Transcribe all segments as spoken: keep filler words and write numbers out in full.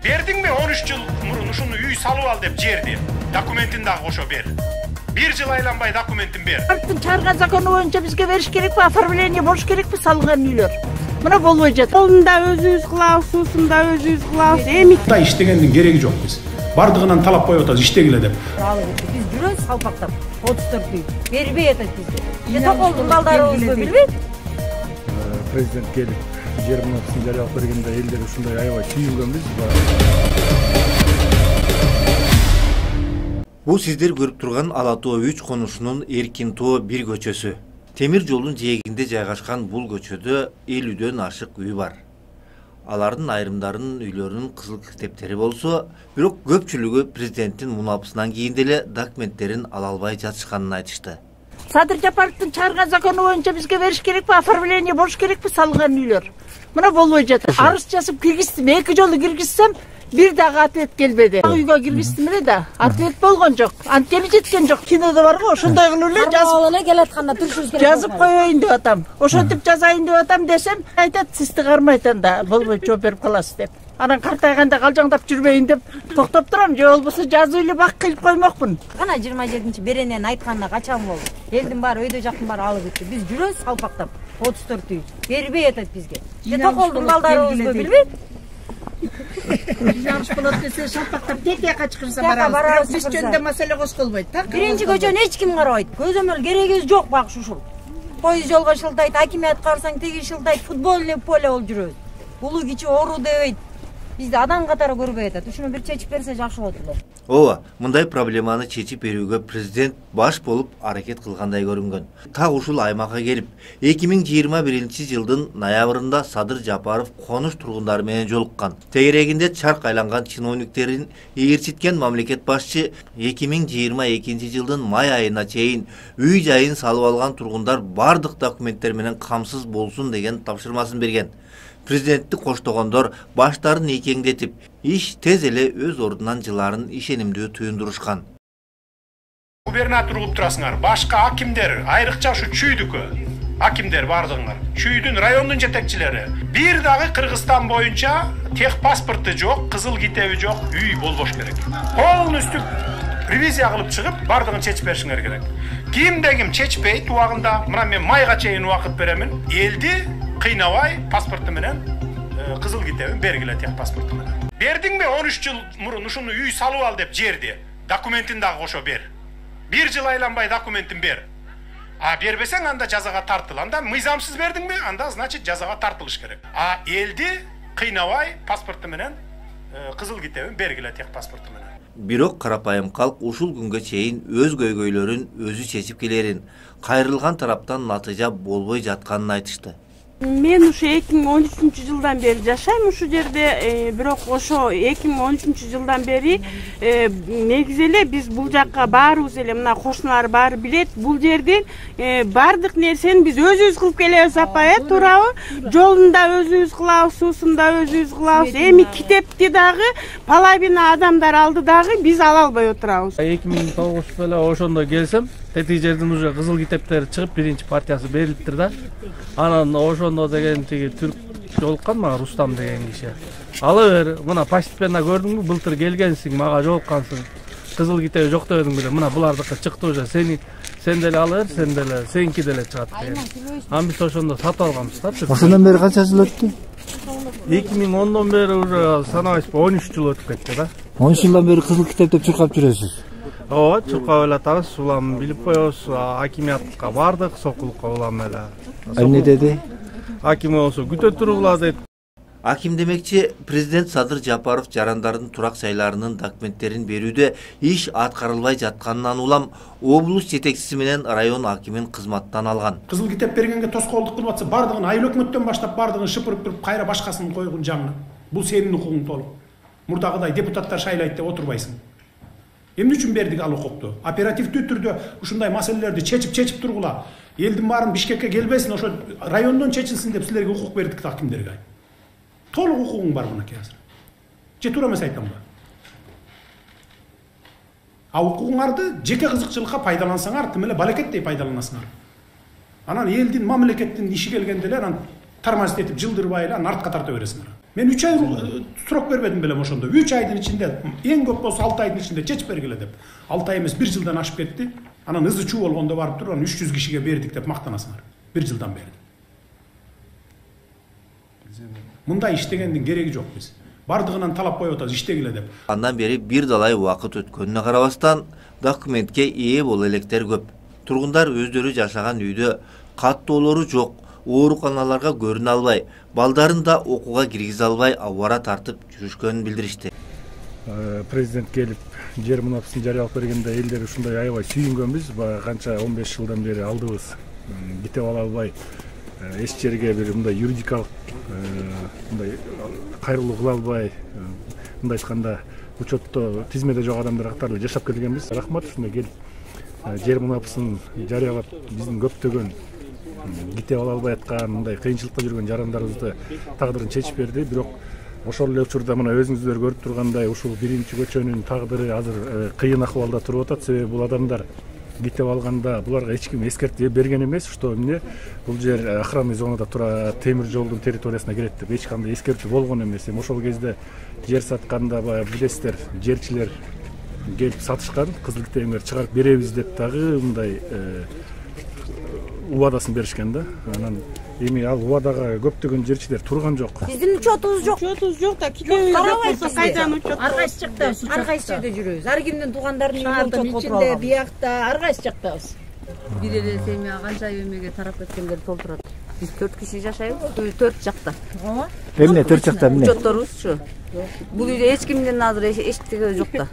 Бердиңби он үч жыл мурун ушуну үй салып ал деп жерди. Документин дагы кошо бер. Бир жыл айланбай документин бер. Чарган закону боюнча бизге бериш керекпи, оформление болуш керекпи салынган үйлөр? Мына болбой жатат. Жолунда өзүбүз кылабыз, суусунда өзүбүз кылабыз. Эми иштегендин кереги жок биз. Бардыгынан талап коюп атабыз иштегиле деп. Биз жүрөбүз салпактап, отуз төрт үй. Бербей атат бизге. Токолдун балдарыбызбы билбейт? Президент келип жер мынакысын жарыялап бергенде элдер ушундай аябай сүйүнгөнбүз. Бул сиздер көрүп турган Ала Тоо үч конушунун Эркин Тоо бир көчөсү. Темир жолдун жээгинде жайгашкан бул көчөдө элүүдөн ашык үй бар. Алардын айрымдарынын үйлөрүнүн кызыл китептери болсо, бирок көпчүлүгү президенттин мунапысынан кийин деле документтерин ала албай жатышканын айтышты. Садыр Жапаровдун чыгарган закону боюнча бизге бериш керекпи, оформление болуш керекпи салынган үйлөр? Мына болбой жатат. Арыз жазып киргиздим, эки жолу киргизсем, бир дагы ответ келбеди. Үйгө киргиздим эле да, ответ болгон жок. Антели жеткен жок. Кинодо барбы, ошондой кылып эле жазып эле келатканда турушубуз керек. Жазып коеюн деп атам. Ошентип жазайын деп атам десем, айтат, сизди кармайт анда, болбойт, жооп берип каласыз деп. Анан картайганда калжаңдап жүрбөйүн деп токтоп турам, же болбосо жазуу эле бак кылып коймокмун. Кана жыйырма жетинчи беренен айтканына качан болду? Элдин баары өйдө жактын баары алып кетти. Биз жүрөбүз салпактап, отуз төрт үй. Бербей атат бизге. Же токолдун балдарыбызбы билбейт? Жагыш болот десе салпактап тете качкырса барабыз. Биз жөнүндө маселе козголбойт. Биринчи көчөнү эч ким карабайт. Көзөмөл керегибиз жок бак ушул. Пойыз жолго шылдайт, акимият карасаң теги шылдайт, футбольный поле болуп жүрөбүз. Улуу кичи ору дебейт. Бизди адам катары көрбөй атат. Ушуну бир чечип берсе жакшы болот эле. Ооба, мындай проблеманы чечип берүүгө президент баш болуп аракет кылгандай көрүнгөн. Так ушул аймакка келип, эки миң жыйырма биринчи жылдын ноябрында Садыр Жапаров конуш тургундары менен жолуккан. Тегерегинде чарк айланган чиновниктерин ээрчиткен мамлекет башчы эки миң жыйырма экинчи жылдын май айына чейин үй жайын салып алган тургундар бардык документтер менен камсыз болсун деген тапшырмасын берген. Президентти коштогондор баштарын ийкеңдетип, иш тез эле өз ордунан жыларын ишенимдүү туюндурушкан. Губернатор кылып турасыңар, башка акимдер, айрыкча ушу чүйдүкү акимдер бардыгыңар, чүйдүн райондун жетекчилери. Бир дагы Кыргызстан боюнча тех паспорту жок, кызыл китеби жок үй болбош керек. Полностью ревизия кылып чыгып, бардыгын чечип беришиңер керек. Кимде ким чечпейт убагында, мына мен майга чейин убакыт беремин. Элди кыйнабай паспорту менен кызыл китебин бергиле тех паспорту менен. Бердиңби он үч жыл мурун ушуну үй салып ал деп жерди. Документин дагы кошо бер. Бир жыл айланбай документин бер. А бербесең анда жазага тартыл. Анда мыйзамсыз бердиңби? Анда значит жазага тартылыш керек. А элди кыйнабай паспорту менен кызыл китебин бергиле тех паспорту менен. Бирок карапайым калк ушул күнгө чейин өз көйгөйлөрүн өзү чечип келерин, кайрылган тараптан натыйжа болбой жатканын айтышты. Мен ушу эки миң он үчүнчү жылдан бери жашайм ушул жерде, бирок ошо эки миң он үчүнчү жылдан бери негизи эле биз бул жакка баарыбыз эле мына кошуналар баары билет, бул жерден бардык нерсени биз өзүбүз кылып келебиз апа, э, туурабы? Жолунда өзүбүз кылабыз, суусунда өзүбүз кылабыз. Эми китепти дагы половина адамдар алды дагы биз ала албай отурабыз. эки миң тогузда эле ошондо келсем, тети жердин уже кызыл китептери чыгып биринчи партиясы берилиптир да. Анан ошондо деген тиги түрк жолуккан мага Рустам деген киши. Ала бер, мына постепенно көрдүңбү, былтыр келгенсиң, мага жолуккансың. Кызыл китеби жок дебедиң беле, мына булардыкы чыкты уже, сени сен деле ала бер, сен деле, сеники деле чыгат деген. Анан биз ошондо сатып алганбыз да. Ошондон бери канча жыл өттү? эки миң ондон бери уже санабайсызбы, он үч жыл өтүп кетти да. он үч жылдан бери кызыл китеп деп чуркап жүрөсүз. Ооба, чуркап эле атабыз, улам билип коебуз, акимиятка бардык, сокулукка улам эле. Эмне деди? Аким болсо күтө туругула дейт. Аким демекчи, президент Садыр Жапаров жарандардын турак жайларынын документтерин берүүдө иш аткарылбай жатканынан улам облус жетекчиси менен район акимин кызматтан алган. Кызыл китеп бергенге тоскоолдук кылып атса, бардыгын айыл өкмөттөн баштап бардыгын шыпырып туруп, кайра башкасын койгун жаңы. Бул сенин укугуң толук. Мурдагыдай депутаттар шайлайт деп отурбайсың. Эмне үчүн бердик ал укукту? Оперативдүү түрдө ушундай маселелерди чечип-чечип тургула. Элдин баарын Бишкекке келбесин, ошо райондон чечилсин деп силерге укук бердик акимдерге. Толук укугуң бар мынакей азыр. Же туура эмес айтамбы? А укугуңарды жеке кызыкчылыкка пайдалансаңар, тим эле балекеттей пайдаланасыңар. Анан элдин, мамлекеттин иши келгенде эле анан тормозить этип жылдырбай эле аны артка тарта бересиңер. Мен үч ай срок бербедим белем ошондо. үч айдын ичинде, эң көп болсо алты айдын ичинде чечип бергиле деп. алты ай эмес бир жылдан ашып кетти. Анан ызы чуу болгондо барып туруп, аны үч жүз кишиге бердик деп мактанасыңар. бир жылдан бери. Мындай иштегендин кереги жок биз. Бардыгынан талап коюп атабыз иштегиле деп. Андан бери бир далай убакыт өткөнүнө карабастан документке ээ боло электер көп. Тургундар өздөрү жашаган үйдө каттоолору жок, ооруканаларга көрүнө албай, балдарын да окууга киргизе албай абара тартып жүрүшкөнүн билдиришти. Президент келип жер мунапасын жарыялап бергенде элдер ушундай аябай сүйүнгөнбүз. Канча он беш жылдан бери алдыбыз китеп ала албай, эч жерге бир мындай юридикалык мындай кайрылуу кыла албай, мындай айтканда учетто тизмеде жок адамдар катары жашап келгенбиз. Рахмат ушундай келип жер мунапасын жарыялап биздин көптөгөн китеп ала албай аткан, мындай кыйынчылыкта жүргөн жарандарыбызды тагдырын чечип берди. Бирок ошол эле учурда мына өзүңүздөр көрүп тургандай ушул биринчи көчөнүн тагдыры азыр кыйын акыбалда туруп атат. Себеби бул адамдар китеп алганда буларга эч ким эскертүү берген эмес, что эмне бул жер охранный зонада тура темир жолдун территориясына кирет деп эч кандай эскертүү болгон эмес. Эми ошол кезде жер сатканда баягы билесиздер, жерчилер келип сатышкан, кызыл китебиңерди чыгарып беребиз деп дагы мындай убадасын беришкен да. Анан эми ал убадага көптөгөн жерчилер турган жок. Биздин учетубуз жок. Учетубуз жок да, китебиз жок. Кайдан учет? Ар кайсы жактабыз. Ар кайсы жерде жүрөбүз. Ар кимдин туугандарын шаардын үйүнө отуруп ичинде, алган. биякта ар кайсы жактабыз. Бир эле семья канча эмеге тарап кеткендер толтурат. Биз төрт киши жашайбыз, төрт жакта. Эмне төрт жакта эмне? Учетторубузчу. Бул үйдө эч кимдин азыр эчтеге жок да.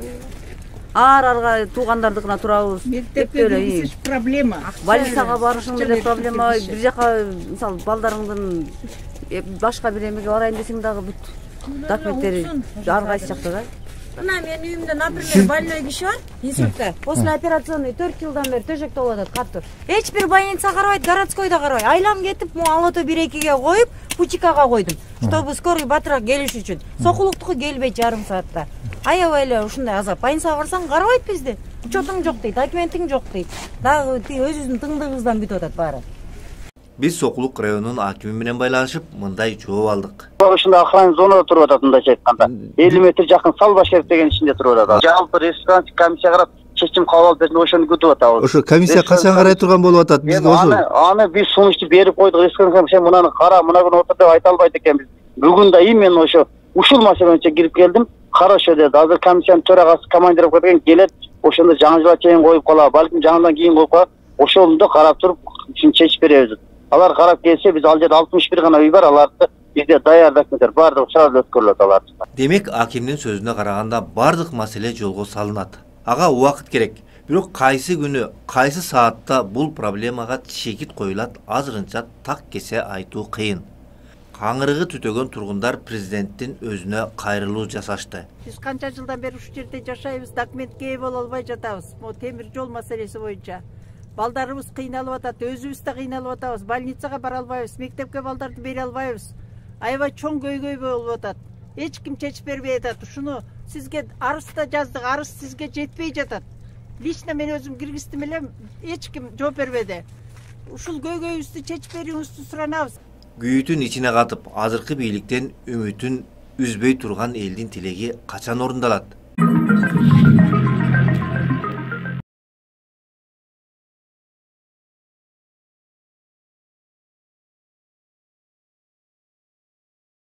Ар-арга туугандардыкына турабыз. Мектепке киргизиш проблема. Больницага барышың деле проблема. Бир жака мисалы балдарыңдын башка бир эмеге барайын десең дагы бүт документтери ар кайсы жакта да. Мына менин үйүмдө, например, больной киши бар, инсультта. После операционный төрт жылдан бери төшөктө болуп атат, катыр. Эч бир больница карабайт, городской да карабайт. Айлам кетип, могу алото бир экиге коюп, пучикага койдум. Чтобы скорый батыраак келиш үчүн. Сокулуктуку келбейт жарым саатта. Аябай эле ушундай азап. Больницага барсаң карабайт бизди. Учетуң жок дейт, документиң жок дейт. Дагы өзүбүздүн тыңдыгыбыздан бүтүп атат баары. Биз Сокулук районунун акими менен байланышып, мындай жооп алдык. Ушундай охранный зонада туруп атат, мындайча айтканда. элүү метр жакын Салбашкеров деген ичинде туруп атат. Жалпы республикалык комиссия карап чечим кабыл алып берсин, ошону күтүп атабыз. Ошо комиссия качан карай турган болуп атат бизге ошо? Аны аны биз сунушту берип койдук. Республика комиссия мынаны кара, мына күнү отур деп айта албайт экенбиз. Бүгүн да именно ошо ушул маселе боюнча кирип келдим. Хорошо деди. Азыр комиссиянын төрагасы командир болуп кеткен, келет, ошондо жаңы жылга чейин коюп калабы, балким жаңыдан кийин коюп калабы. Ошондо карап туруп чечип беребиз. Алар карап келсе, биз ал жерде алтымыш бир гана үй бар, аларды бизде даяр документтер бардыгы сразу өткөрүлөт аларды. Демек, акимдин сөзүнө караганда бардык маселе жолго салынат. Ага убакыт керек. Бирок кайсы күнү, кайсы саатта бул проблемага чекит коюлат азырынча так кесе айтуу кыйын. Каңырыгы түтөгөн тургундар президенттин өзүнө кайрылуу жасашты. Биз канча жылдан бери ушул жерде жашайбыз, документке ээ боло албай жатабыз. Могу темир жол маселеси боюнча. Балдарыбыз кыйналып атат, өзүбүз да кыйналып атабыз, больницага бара албайбыз, мектепке балдарды бере албайбыз. Аябай чоң көйгөй болуп атат. Эч ким чечип бербей атат. Ушуну сизге арыз да жаздык, арыз сизге жетпей жатат. Лично мен өзүм киргиздим элем, эч ким жооп бербеди. Ушул көйгөйүбүздү чечип берүүңүздү суранабыз. Күйүтүн ичине катып, азыркы бийликтен үмүтүн үзбөй турган элдин тилеги качан орундалат?